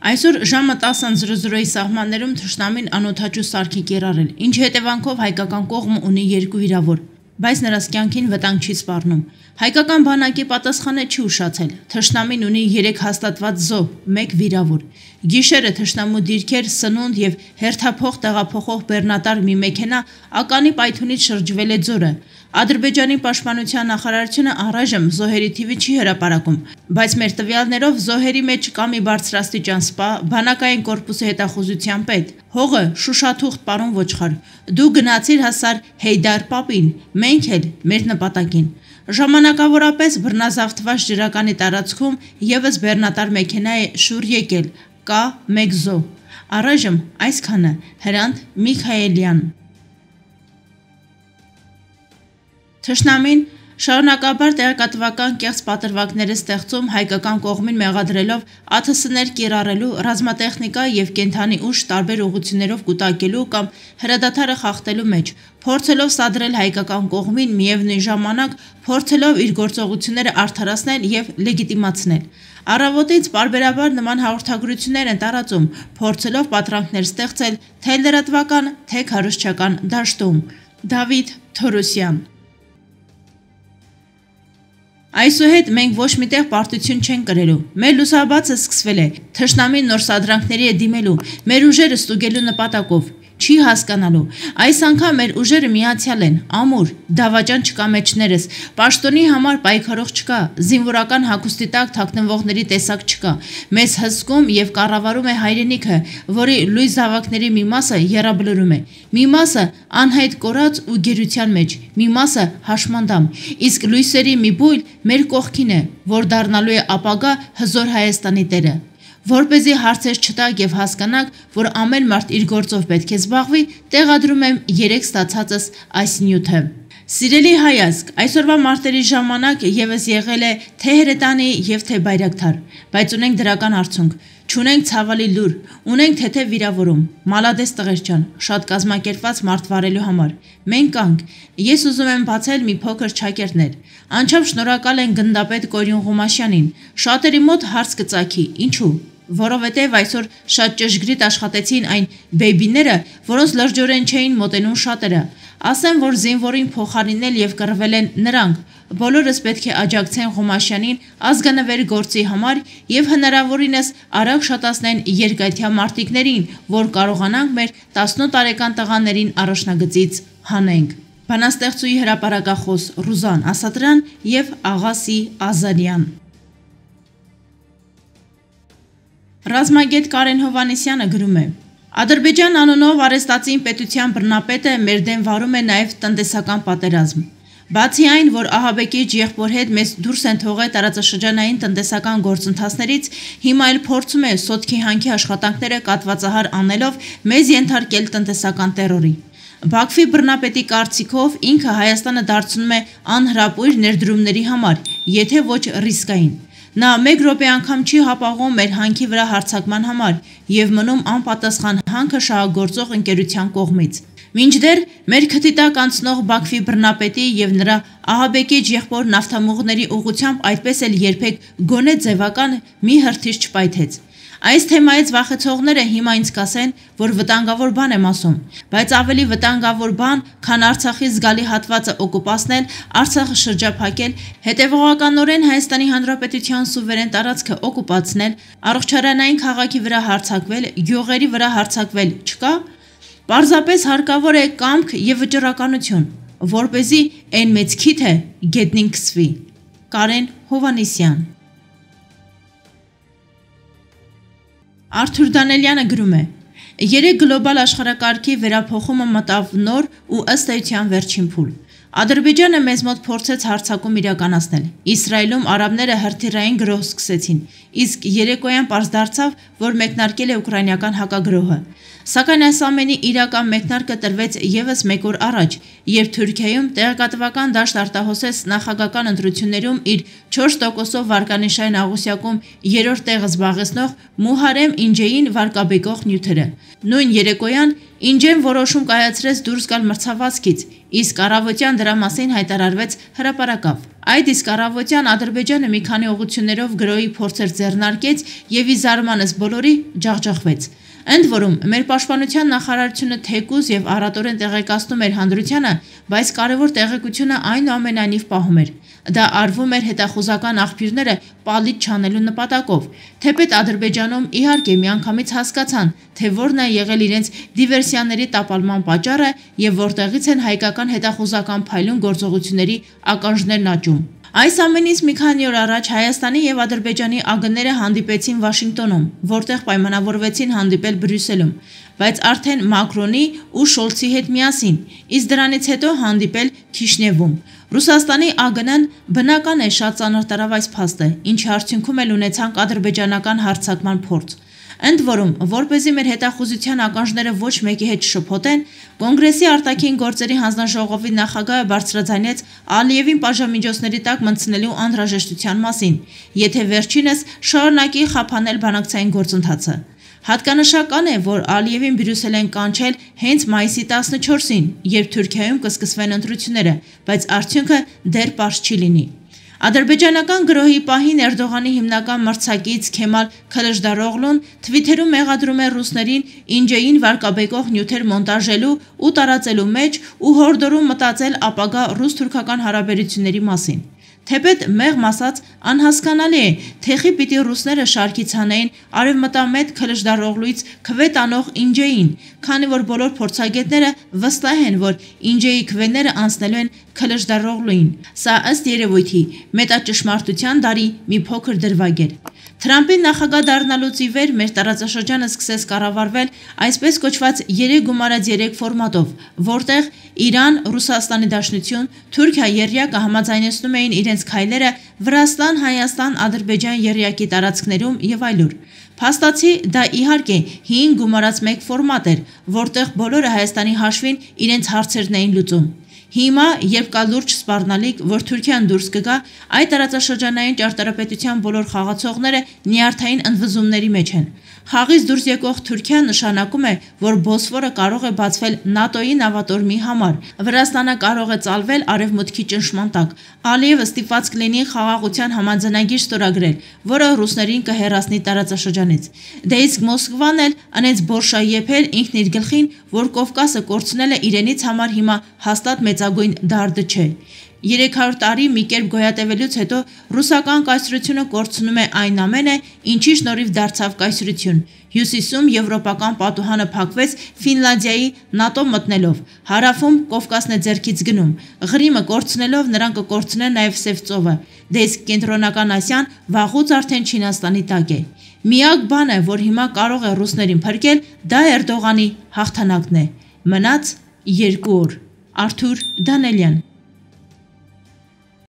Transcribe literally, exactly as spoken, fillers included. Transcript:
Այսօր ժամը տասը սահմաններում թշնամին անօդաչու սարք է կիրառել, ինչի հետևանքով հայկական կողմը ունի երկու վիրավոր, բայց նրանց կյանքին վտանգ չի սպառնում։ Հայկական բանակի պատասխանը չի ուշացել։ Թշնամին ունի երեք հաստատված զոհ, մեկ վիրավոր։ Գիշերը թշնամու դիրքեր, սնունդ եւ հերթափոխ տեղափոխող բեռնատար մի մեքենա ականի պայթունից շրջվել է ձորը։ Ադրբեջանի պաշտպանության նախարարությունը առայժմ զոհերի թիվը չի հրապարակում, բայց մեր տվյալներով զոհերի մեջ կա մի բարձրաստիճան սպա, բանակային կորպուսի հետախուզության պետ, հողը շուշաթուղթ պարոն Ոչխար, դու գնացիր հասար Հեյդար Պապին, մենք էլ մեր նպատակին։ Ժամանակավորապես բռնազավթված ջրականի տարածքում ևս բեռնատար մեքենա է շուռ եկել, կա մեկ զոհ։ Առայժմ այսքանը։ Հրանտ Միքայելյան։ Թշնամին շարունակաբար տեղեկատվական կեղծ պատրվակներ է ստեղծում հայկական կողմին մեղադրելով ԱԹՍ-ներ կիրառելու, ռազմատեխնիկա եւ կենդանի ուժ տարբեր ուղղություններով կուտակելու կամ հրադադարը խախտելու մեջ, փորձելով սադրել հայկական կողմին, միևնույն ժամանակ փորձելով իր գործողությունները արդարացնել եւ լեգիտիմացնել։ Առավոտից պարբերաբար նման հաղորդագրություններ են տարածում, փորձելով պատրանքներ ստեղծել թե լրատվական, թե քարոզչական դաշտում։ Դավիթ Թորոսյան։ Այսուհետ մենք ոչ միտեղ պարտություն չենք կրելու, մեր լուսաբացը սկսվել է, թշնամին նոր սադրանքների է դիմելու, մեր ուժերը ստուգելու նպատակով, չի հասկանալու, այս անգամ մեր ուժերը միացյալ են, ամուր, դավաճան չկա մեջներս, պաշտոնի համար պայքարող չկա, զինվորական հագուստի տակ թաքնվողների տեսակ չկա, մեզ հսկում եւ կառավարում է հայրենիքը, որի լույս զավակների մի մասը եռաբլուրում է, մի մասը անհայտ կորած ու գերության մեջ, մի մասը հաշմանդամ, իսկ լույսերի մի բույլ մեր կողքին է, որ դառնալու է ապագա հզոր Հայաստանի տերը։ Որպեսզի հարցեր չտակ եւ հասկանաք, որ ամեն մարդ իր գործով պետք է զբաղվի, տեղադրում եմ երեք ստացածս այս նյութը։ Սիրելի հայազգ, այսօրվա մարտերի ժամանակ եւս եղել է թե հրետանի եւ թե բայրակթար, բայց ունենք դրական արդյունք, չունենք ցավալի լուր, ունենք թեթև վիրավորում, մալադես տղեր ջան, շատ կազմակերպված մարդ վարելու համար։ Մենք կանք, ես ուզում եմ բացել մի փոքր չակերտներ։ Անչափ շնորհակալ են գնդապետ Կորյուն Ղումաշյանին։ Շատերի մոտ հարց կծագի, ինչու։ Որովհետև այսօր շատ ճշգրիտ աշխատեցին այն բեյբիները, որոնց լրջորեն չէին մոտենում շատերը։ Ասեմ, որ զինվորին փոխարինել եւ կռվել են նրանք։ Բոլորս պետք է աջակցեն Ղումաշյանին ազգանվեր գործի համար եւ հնարավորինս արագ շատացնեն երկայթյա մարտիկներին, որ կարողանանք մեր տասնութ տարեկան տղաներին առաջնագծից հանենք։ Բանաստեղծուի հրապարակախոս Ռուզան Ասատրյան եւ Աղասի Ազարյան։ Ռազմագետ Կարեն Հովհաննիսյանը գրում է. Ադրբեջան անունով արեստացին պետության բռնապետը մեր դեմ վարում է նաև տնտեսական պատերազմ։ Բացի այն, որ ահաբեկիչ եղբոր հետ մեզ դուրս են թողել տարածաշրջանային տնտեսական գործընթացներից, հիմա էլ փորձում է սոտքի հանքի աշխատանքները կատվածահար անելով մեզ ենթարկել տնտեսական տերորի։ Բաքվի բռնապետի կարծիքով ինքը Հայաստանը դարձնում է անհրապույր ներդրումների համար, եթե ոչ ռիսկային։ Նա մեկ րոպե անգամ չի հապաղում մեր հանքի վրա հարձակման համար եւ մնում անպատասխան հանքը շահագործող ընկերության կողմից։ Մինչդեռ մեր քթի տակ անցնող Բաքվի բռնապետի եւ նրա ահաբեկիչ եղբոր նավթամուղների ուղղությամբ այդպես էլ երբեք գոնե ձևական մի հրթիռ չպայթեց։ Այս թեմայից վախեցողները հիմա ինձ կասեն, որ վտանգավոր բան եմ ասում, բայց ավելի վտանգավոր բան, քան Արցախի զգալի հատվածը օկուպացնել, Արցախը շրջափակել, հետևողականորեն Հայաստանի Հանրապետության սուվերեն տարածքը օկուպացնել, առողջարանային քաղաքի վրա հարձակվել, գյուղերի վրա հարձակվել չկա, պարզապես հարկավոր է կամք եւ վճռականություն, որպեսզի այն մեծ քիթը գետնին քսվի։ Կարեն Հովհաննիսյան։ Արթուր Դանելյանը գրում է. Երեք գլոբալ աշխարհակարգի վերափոխումը մտավ նոր ու ըստ էության վերջին փուլ։ Ադրբեջանը մեզ մոտ փորձեց հարձակում իրականացնել։ Իսրայելում արաբները հրթիռային գրոհ սկսեցին, իսկ երեկոյան պարզ դարձավ, որ մեկնարկել է ուկրաինական հակագրոհը։ Սակայն այս ամենի իրական մեկնարկը տրվեց ևս մեկ օր առաջ, երբ Թուրքիայում տեղեկատվական դաշտ արտահոսեց նախագահական ընտրություններում իր չորս տոկոսով վարկանիշային աղյուսակում երրորդ տեղը զբաղեցնող Մուհարեմ Ինջեին վարկաբեկող նյութերը։ Նույն երեկոյան Ինջեն որոշում կայացրեց դուրս գալ մրցավազքից, իսկ առավոտյան դրա մասին հայտարարվեց հրապարակավ։ Այդ իսկ առավոտյան Ադրբեջանը մի քանի ուղղություններով գրոհի փորձեր ձեռնարկեց եւ ի զարմանս բոլորի ջախջախվեց։ Ընդ որում, մեր պաշտպանության նախարարությունը թեկուզ եւ առատորեն տեղեկացնում էր հանրությանը, բայց կարևոր տեղեկությունը այնուամենայնիվ պահում էր։ Դա արվում էր հետախուզական աղբյուրները պալիճ չանելու նպատակով, թեպետ Ադրբեջանում իհարկե միանգամից հասկացան, թե որն է եղել իրենց դիվերսիաների տապալման պատճառը եւ որտեղից են հայկական հետախուզական փայլուն գործողությունների ականջներն աճում։ Այս ամենից մի քանի օր առաջ Հայաստանի եւ Ադրբեջանի ԱԳՆ-ները հանդիպեցին Վաշինգտոնում, որտեղ պայմանավորվեցին հանդիպել Բրյուսելում, բայց արդեն Մակրոնի ու Շոլցի հետ միասին, իսկ դրանից հետո հանդիպել Քիշնևում։ Ռուսաստանի ԱԳՆ-ն բնական է շատ ծանր տարավ այս փաստը, ինչի արդյունքում էլ ունեցանք ադրբեջանական հարձակման փորձ։ Ընդ որում, որպեսզի մեր հետախուզության ականջները ոչ մեկի հետ շփոթեն, Կոնգրեսի արտաքին գործերի հանձնաժողովի նախագահը բարձրաձայնեց Ալիևին պատժամիջոցների տակ մտցնելու անհրաժեշտության մասին, եթե վերջինս շարունակի խափանել բանակցային գործընթացը։ Հատկանշական է, որ Ալիևին Բրյուսել են կանչել հենց մայիսի տասնչորսին, երբ Թուրքիայում կսկսվեն ընտրությունները, բայց արդյունքը դեռ պարզ չի լինի։ Ադրբեջանական գրոհի պահին Էրդողանի հիմնական մրցակից Քեմալ Քլշդարօղլուն թվիթերում մեղադրում է ռուսներին Ինջեին վարկաբեկող նյութեր մոնտաժելու ու տարածելու մեջ ու հորդորում մտածել ապագա ռուս-թուրքական հարաբերությունների մասին։ Թեպետ մեղմ ասած անհասկանալի է, թեխի պիտի ռուսները շարքից հանեին արևմտամետ Քլշդարօղլուից քվե տանող Ինջեին, քանի որ բոլոր փորձագետները վստահ են, որ Ինջեի քվեները անցնելու են Քլշդարօղլուին։ Սա ըստ երևույթի մետաճշմարտության դարի մի փոքր դրվագ էր։ Թրամփի նախագահ դառնալուց ի վեր մեր տարածաշրջանը սկսեց կառավարվել այսպես կոչված երեք գումարած երեք ֆորմատով, որտեղ Իրան, Ռուսաստանի Դաշնություն, Թուրքիա եռյակը համաձայնեցնում էին իրենց քայլերը Վրաստան, Հայաստան, Ադրբեջան եռյակի տարածքներում եւ այլուր։ Փաստացի դա իհարկե հինգ գումարած մեկ ֆորմատ էր, որտեղ բոլորը Հայաստանի հաշվին իրենց հարցերն էին լուծում։ Հիմա, երբ կա լուրջ սպառնալիք, որ Թուրքիան դուրս կգա, այդ տարածաշրջանային ճարտարապետության բոլոր խաղացողները նյարդային ընդվզումների մեջ են։ Խաղից դուրս եկող Թուրքիան նշանակում է, որ Բոսֆորը կարող է բացվել ՆԱՏՕ-ի նավատորմի համար, Վրաստանը կարող է ծալվել արևմուտքի ճնշման տակ։ Ալիևը ստիպված կլինի խաղաղության համաձայնագիր ստորագրել, որը ռուսներին կհեռացնի տարածաշրջանից։ Դե իսկ Մոսկվան էլ անեց բորշա եփել ինքն իր գլխին, որ Կովկասը կորցնելը իրենից համար հիմա հաստատ մեծագույն դարդը չէ։ երեք հարյուր տարի մի կերպ գոյատևելուց հետո ռուսական կայսրությունը կորցնում է այն ամենը, ինչի շնորհիվ դարձավ կայսրություն։ Հյուսիսում եվրոպական պատուհանը փակվեց Ֆինլանդիայի ՆԱՏՕ մտնելով, հարավում Կովկասն է ձեռքից գնում, Ղրիմը կորցնելով նրանք կկորցնեն նաև Սև ծովը, դե իսկ կենտրոնական Ասիան վաղուց արդեն Չինաստանի տակ է։ Միակ բանը, որ հիմա կարող է ռուսներին փրկել, դա Էրդողանի հաղթանակն է։ Մնաց երկու օր։ Արթուր Դանելյան